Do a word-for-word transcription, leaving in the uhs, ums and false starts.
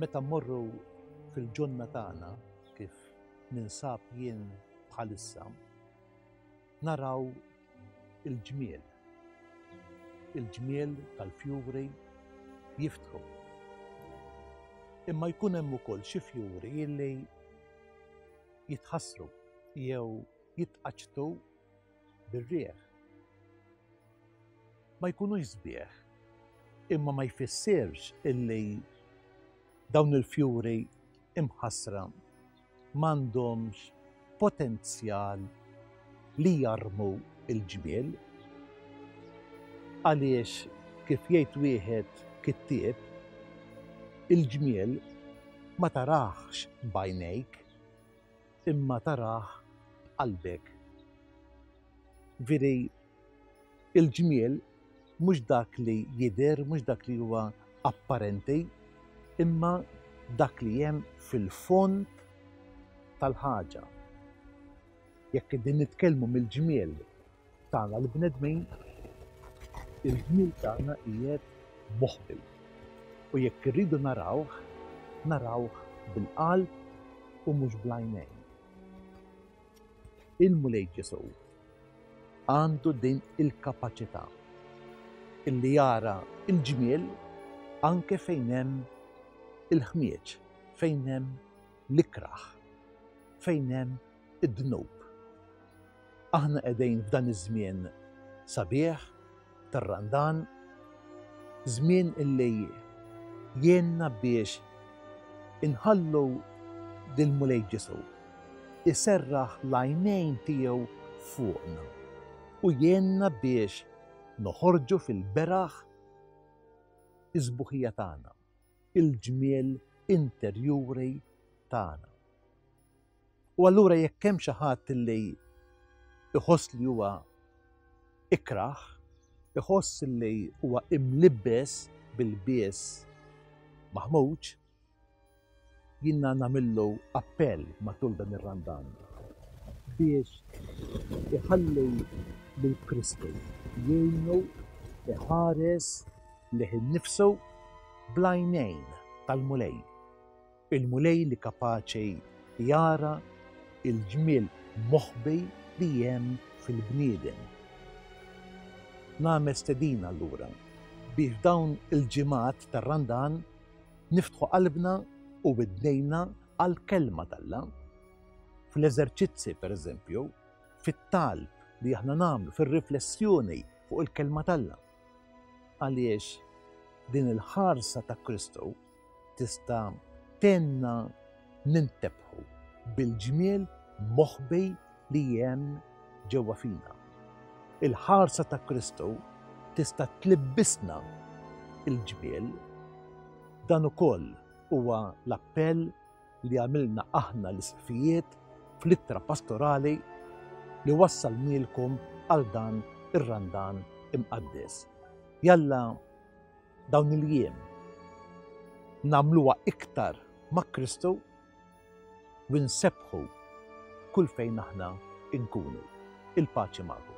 Meta mmorru fil-ġonna tagħna, kif ninsab jien bħalissa, naraw il-ġmiel. Il-ġmiel tal-fjuri jiftħu. Imma jkun hemm ukoll xi fjuri illi jitħassru jew jitqaċċtu bir-riħ. Ma jkunux sbieħ, imma ma jfissirx illi dawn il-fjuri imħassra m'għandhomx potenzjal li jarmu il-ġmiel. Għaliex, kif jgħid wieħed kittieb, il-ġmiel ma taraħx b'għajnejk, imma tarah b'qalbek. Veri, il-ġmiel mhux dak li jidher, mhux dak li huwa apparenti, imma dak li hemm fil-fond tal-ħaġa. Jekk qegħdin nitkellmu mill-ġmiel tagħna l-bnedmin, il-ġmiel tagħna qiegħed moħbi. U jekk irridu narawh, narawh bil-qalb u mhux bl-għajnejn. Il-Mulej Ġesù għandu din il-kapaċità illi jara il-ġmiel anke fejn hemm il-ħmieġ, fejn hemm l-ikrah, fejn hemm id-dnub. Aħna qegħdin f'dan iż-żmien sabiħ tar-Randan, żmien illi jgħinna biex inħallu lill-Mulej Ġesù iserraħ l-għajnejn tiegħu fuqna u jgħinna biex noħorġu fil-beraħ is-sbuħija tagħna, il-ġmiel interjuri tagħna. U allura jekk hemm xi ħadd li iħoss li huwa ikrah, iħoss li huwa imlibbes bil-bies maħmuġ, jiena nagħmillu appell matul dan ir-Randan biex iħalli lil Kristu jgħinu iħares lih innifsu bl-għajnejn tal-Mulej. Il-Mulej li kapaċi jara il-ġmiel moħbi li hemm fil-bniedem. Nagħmel stedina allura biex dawn il-ġimgħat tar-Randan niftħu qalbna u widnejna għall-kelma t'Alla. Fl-eżerċizzi, per eżempju, fit-talb li aħna nagħmlu, fir-riflessjoni fuq il-kelma t'Alla. Għaliex din il-ħarsa ta' Kristu tista' tgħinna nintebħu bil-ġmiel moħbi li hemm ġewwa fina. Il-ħarsa ta' Kristu tista' tlibbisna il-ġmiel. Dan ukoll huwa l-appell li għamilna aħna l-isqfijiet fl-ittra pastorali li wassalnielkom għal dan ir-Randan imqaddes. Jalla dawn il-jiem nagħmluha iktar ma' Kristu u nsebbħu kull fejn aħna nkunu. Il-paċi magħkom.